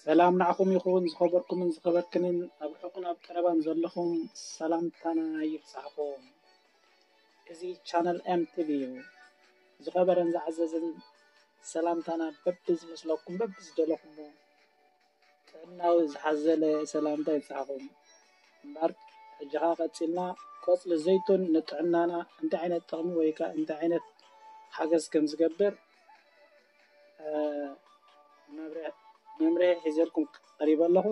ሰላም ንዓኹም ይኹን፣ ዝኸበርኩምን ዝኸበርክንን፣ ኣብ ርሑቕን ኣብ ቀረባን ዘለኹም ሰላምታና ይብጻሕኩም። እዚ ቻነል ኤም ቲ ቪ እዩ። ዝኸበረን ዝዓዘዘን ሰላምታና በብዝመስለኩም፣ በብዝደለኹሞ ጥዕናዊ ዝሓዘለ ሰላምታ ይብጻሕኩም። እምበኣር ሕጂ ኸኣ ቀጺልና ቆጽሊ ዘይቱን ንጥዕናና እንታይ ዓይነት ጥቕሚ ወይ ከኣ እንታይ ዓይነት ሓገዝ ከም ዝገብር፣ እ፣ መምርሒ፣ መምርሒ ሒዘልኩም ቀሪበ ኣለኹ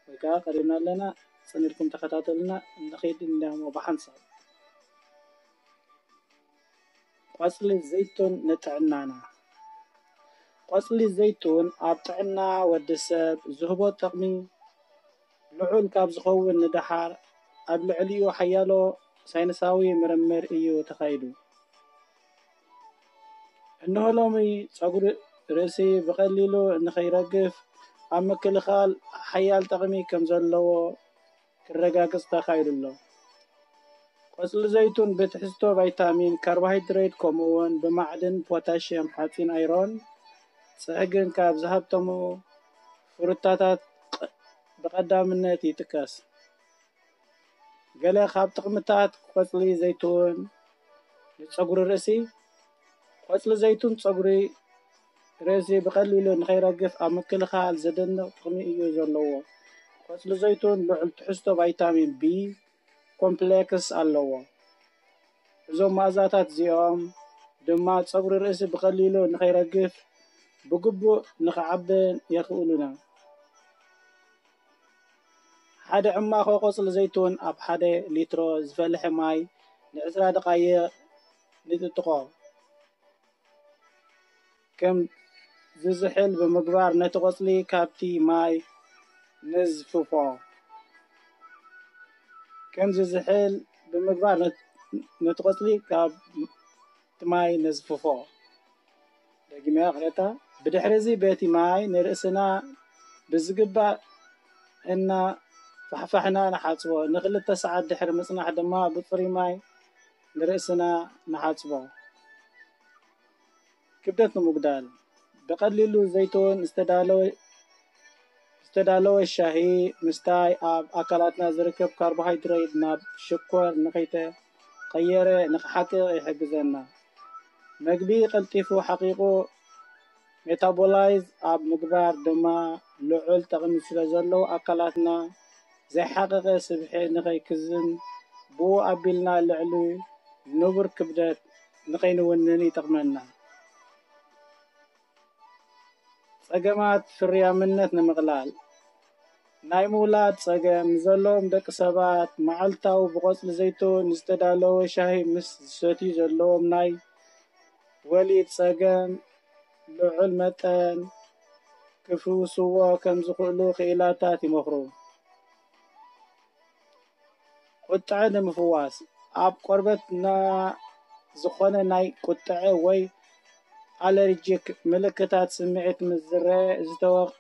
ወይ ከኣ ቀሪብና ኣለና። ጽን ኢልኩም ተኸታተሉና። ንኺድ እንዲያሞ ብሓንሳብ። ቆጽሊ ዘይቱን ንጥዕናና። ቆጽሊ ዘይቱን ኣብ ጥዕና ወዲ ሰብ ዝህቦ ጥቕሚ ልዑል ካብ ዝኸውን ንደሓር ኣብ ልዕሊኡ ሓያሎ ሳይንሳዊ ምርምር እዩ ተኻይዱ። እንሆ ሎሚ ጸጉሪ ርእሲ ብቐሊሉ ንኸይረግፍ ኣብ ምክልኻል ሓያል ጥቕሚ ከም ዘለዎ ክረጋገጽ ተኻይዱ ኣሎ። ቆጽሊ ዘይቱን ብትሕዝቶ ቫይታሚን፣ ካርቦሃይድሬት ከምኡውን ብማዕድን ፖታሽየም፣ ሓጺን፣ ኣይሮን፣ ጽሕግን ካብ ዝሃብተሙ ፍሩታታት ቕ-፣ ብቐዳምነት ይጥቀስ። ገለ ካብ ጥቕምታት ቆጽሊ ዘይቱን ንጸጉሪ ርእሲ። ቆጽሊ ዘይቱን ጸጉሪ ርእሲ ብቐሊሉ ንኸይረግፍ ኣብ ምክልኻል ዘደንቕ ጥቕሚ እዩ ዘለዎ። ቆጽሊ ዘይቱን ልዑል ትሕዝቶ ቫይታሚን ቢ ኮምፕሌክስ ኣለዎ። እዞም መኣዛታት እዚኦም ድማ ጸጉሪ ርእሲ ብቐሊሉ ንኸይረግፍ ብግቡእ ንኽዓብን የኽእሉና። ሓደ ዕማኾ ቆጽሊ ዘይቱን ኣብ ሓደ ሊትሮ ዝፈልሐ ማይ ንዕስራ ደቓይቕ ንጥጥቖ። ከም ዝዝሕል ብምግባር ነቲ ቆጽሊ ካብቲ ማይ ነዝፍፎ። ከም ዝዝሕል ብምግባር ነት-፣ ነቲ ቆጽሊ ካብ እቲ ማይ ነዝፍፎ። ደጊመ ይቕሬታ። ብድሕሪ እዚ በቲ ማይ ንርእስና ብዝግባእ እና ፋሕፋሕና ንሓጽቦ። ንኽልተ ሰዓት ድሕሪ ምጽናሕ ድማ ብጽሩይ ማይ ንርእስና ንሓጽቦ። ክብደት ንምጉዳል። ብቐሊሉ ዘይቱን ዝተዳለወ፣ ዝተዳለወ ሻሂ ምስታይ ኣብ ኣካላትና ዝርከብ ካርቦሃይድሬት ናብ ሽኮር ንኸይተቐየረ ንኽሓቅቕ ይሕግዘና። መግቢ ቀልጢፉ ሓቒቑ ሜታቦላይዝ ኣብ ምግባር ድማ ልዑል ጠቕሚ ስለ ዘለዎ ኣካላትና ዘይሓቐቐ ስብሒ ንኸይክዝን ብኡ ኣቢልና ልዕሊ ንቡር ክብደት ንኸይንውንን ይጠቕመና። ጸገማት ፍርያምነት ንምቕላል። ናይ ምውላድ ጸገም ንዘለዎም ደቂ ሰባት መዓልታዊ ብቆጽሊ ዘይቱን ዝተዳለወ ሻሂ ምስ ዝሰትዩ ዘለዎም ናይ ወሊድ ጸገም ልዑል መጠን ክፍውስዎ ከም ዝኽእሉ ክኢላታት ይመኽሩ። ቁጥዐ ንምፍዋስ። ኣብ ቆርበትና ዝኾነ ናይ ቁጥዐ ወይ ኣለርጂክ ምልክታት ስምዒት ምስ ዝረአ ዝተወ-፣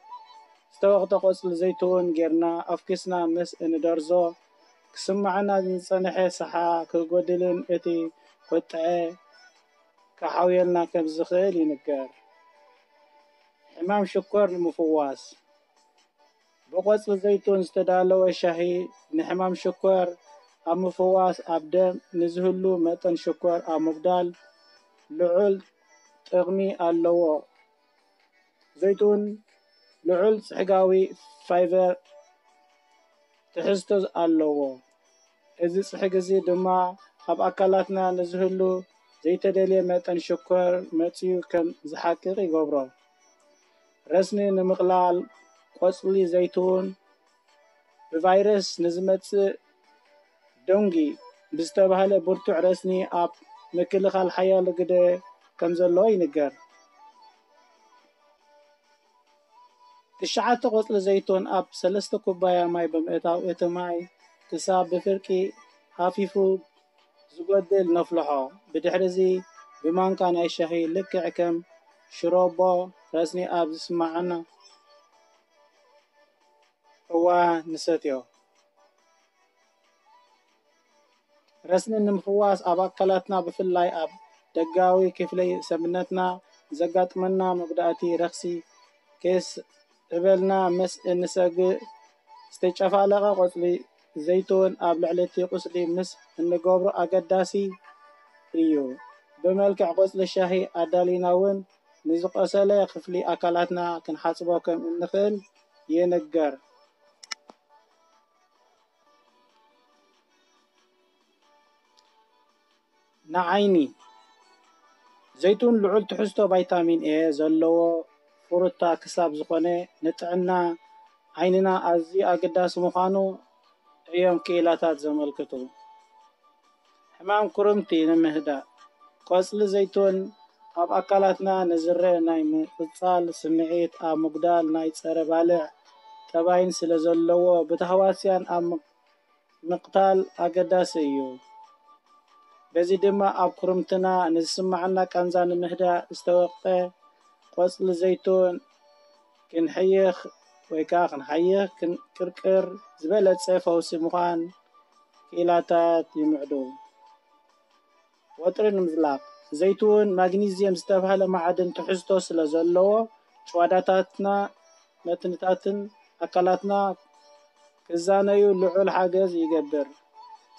ዝተወቕጠ ቆጽሊ ዘይትውን ጌርና ኣፍኪስና ምስ እንደርዞ ክስምዓና ዝጸንሐ ሰሓ ክጎድልን እቲ ቁጥዐ ክሓውየልና ከም ዝኽእል ይንገር። ሕማም ሽኮር ንምፍዋስ። ብቆጽሊ ዘይቱን ዝተዳለወ ሻሂ ንሕማም ሽኮር ኣብ ምፍዋስ፣ ኣብ ደም ንዝህሉ መጠን ሽኮር ኣብ ምጉዳል ልዑል ጥቕሚ ኣለዎ። ዘይቱን ልዑል ጽሕጋዊ ፋይበር ትሕዝቶ ኣለዎ። እዚ ጽሕጊ እዚ ድማ ኣብ ኣካላትና ንዝህሉ ዘይተደልየ መጠን ሽኮር መጽዩ ከም ዝሓቅቕ ይገብሮ። ረስኒ ንምቕላል። ቆጽሊ ዘይቱን ብቫይረስ ንዝመጽእ ደንጊ ብዝተባህለ ብርቱዕ ረስኒ ኣብ ምክልኻል ሓያሎ ግደ ከም ዘለዎ ይንገር። ትሽዓተ ቆጽሊ ዘይቱን ኣብ ሰለስተ ኩባያ ማይ ብምእታው፣ እቲ ማይ ክሳብ ብፍርቂ ሃፊፉ ዝጎድል ነፍልሖ። ብድሕሪዚ ብማንካ ናይ ሻሂ ልክዕ ከም ሽሮቦ ረስኒ ኣብ ዝስምዓና እዋን ንሰትዮ። ረስኒ ንምፍዋስ ኣብ ኣካላትና ብፍላይ ኣብ ደጋዊ ክፍሊ ሰብነትና ዘጋጥመና መጉዳእቲ ረኽሲ ከየስ-፣ እበልና ምስ እንሰግእ ዝተጨፋለቐ ቆጽሊ ዘይትውን ኣብ ልዕሊ እቲ ቁስሊ ምስ እንገብሮ ኣገዳሲ እዩ። ብመልክዕ ቆጽሊ ሻሂ ኣዳሊና እውን ንዝቆሰለ ክፍሊ ኣካላትና ክንሓጽቦ ከም እንኽእል ይንገር። ንዓይኒ ዘይቱን ልዑል ትሕዝቶ ቫይታሚን ኤ ዘለዎ ፍሩታ ክሳብ ዝኾነ ንጥዕና ዓይንና ኣዝዩ ኣገዳሲ ምዃኑ እዮም ክኢላታት ዘመልክቱ። ሕማም ኩርምቲ ንምህዳእ ቆጽሊ ዘይቱን ኣብ ኣካላትና ንዝረአ ናይ ምቕጻል ስምዒት ኣብ ምጉዳል ናይ ጸረ ባልዕ ጠባይን ስለ ዘለዎ ብታህዋስያን ኣብ ምቕታል ኣገዳሲ እዩ። በዚ ድማ ኣብ ኩርምትና ንዝስማዓና ቃንዛ ንምህዳእ ዝተወቕጠ ቆጽሊ ዘይቱን ክንሕይኽ ወይ ከዓ ክንሓይኽ ክንቅርቅር ዝበለጸ ፈውሲ ምዃን ክኢላታት ይምዕዱ። ወጥሪ ንምዝላቕ ዘይትውን ማግኒዝየም ዝተባህለ ማዕድን ትሕዝቶ ስለ ዘለዎ ጭዋዳታትና መትንታትን ኣካላትና ክዛነዩ ልዑል ሓገዝ ይገብር።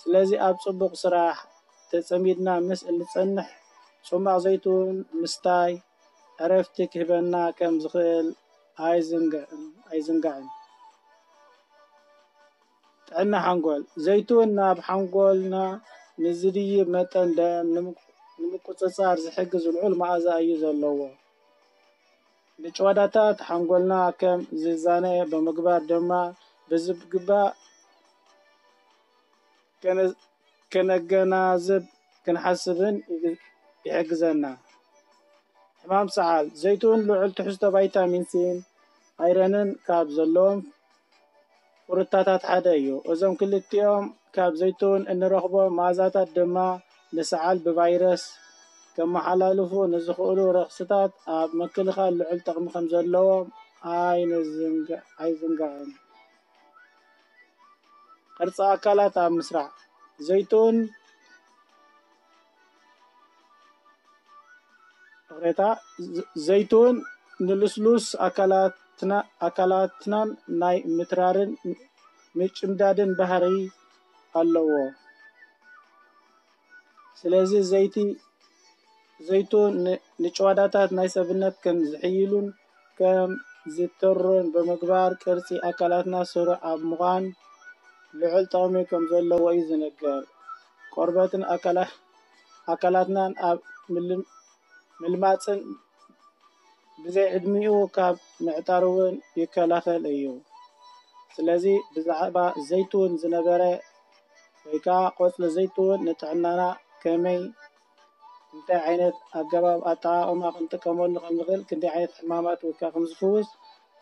ስለዚ ኣብ ጽቡቕ ስራሕ ተጸሚድና ምስ እንጸንሕ ጽማቕ ዘይትውን ምስታይ ዕረፍቲ ክህበና ከም ዝኽእል ኣይዝንግዕን ኣይዝንጋዕን። ጥዕና ሓንጎል ዘይትውን ናብ ሓንጎልና ንዝድይብ መጠን ደም ንምቁጽጻር ዝሕግዝ ልዑል መኣዛ እዩ ዘለዎ። ንጭዋዳታት ሓንጎልና ከም ዝዛነ ብምግባር ድማ ብዝግባእ ከነገናዝብ ክንሓስብን ይሕግዘና። ሕማም ሰዓል ዘይትውን ልዑል ትሕዝቶ ቫይታሚን ሲን ኣይረንን ካብ ዘለዎም ፍሩታታት ሓደ እዩ። እዞም ክልቲኦም ካብ ዘይትውን እንረኽቦ መኣዛታት ድማ ንሰዓል ብቫይረስ ከመሓላልፉ ንዝኽእሉ ረኽስታት ኣብ ምክልኻል ልዑል ጠቕሚ ከም ዘለዎም ኣይንዝንጋ- ኣይዝንጋዕን። ቅርጺ ኣካላት ኣብ ምስራዕ ዘይትውን ይቕሬታ፣ ዘይትውን ንልስሉስ ኣካላትናን ናይ ምትራርን ምጭምዳድን ባህሪ ኣለዎ። ስለዚ ዘይቲ ዘይቱን ንጭዋዳታት ናይ ሰብነት ከም ዝሕይሉን ከም ዝተሩን ብምግባር ቅርጺ ኣካላትና ስሩዕ ኣብ ምዃን ልዑል ጠቕሚ ከም ዘለዎ እዩ ዝንገር። ቆርበትን ኣካላትናን ኣብ ምልማጽን ብዘይ ዕድሚኡ ካብ ምዕጣር እውን ይከላኸል እዩ። ስለዚ ብዛዕባ ዘይትውን ዝነበረ ወይ ከዓ ቆፅሊ ዘይትውን ንጥዕናና ከመይ እንታይ ዓይነት ኣገባብ ኣጠቓቕማ ክንጥቀመሉ ከም ንኽእል ክንደይ ዓይነት ሕማማት ወይ ከዓ ከም ዝፍውስ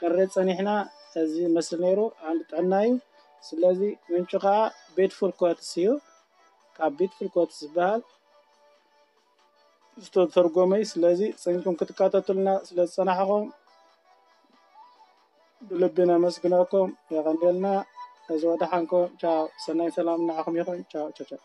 ክንርኢ ፀኒሕና። እዚ መስል ነይሩ። ዓንዲ ጥዕና እዩ። ስለዚ ምንጩ ከዓ ቤድፉል ኮትስ እዩ። ካብ ቤድፉል ኮትስ ዝበሃል ዝተተርጎመ እዩ። ስለዚ ፀኒሕኩም ክትከታተሉና ስለ ዝፀናሕኹም ብልቢ ነመስግነኩም። የቐንየልና። እዚ ወደሓንኩም። ቻው። ሰናይ ሰላም ንዓኹም ይኹን። ቻው ቻው ቻው።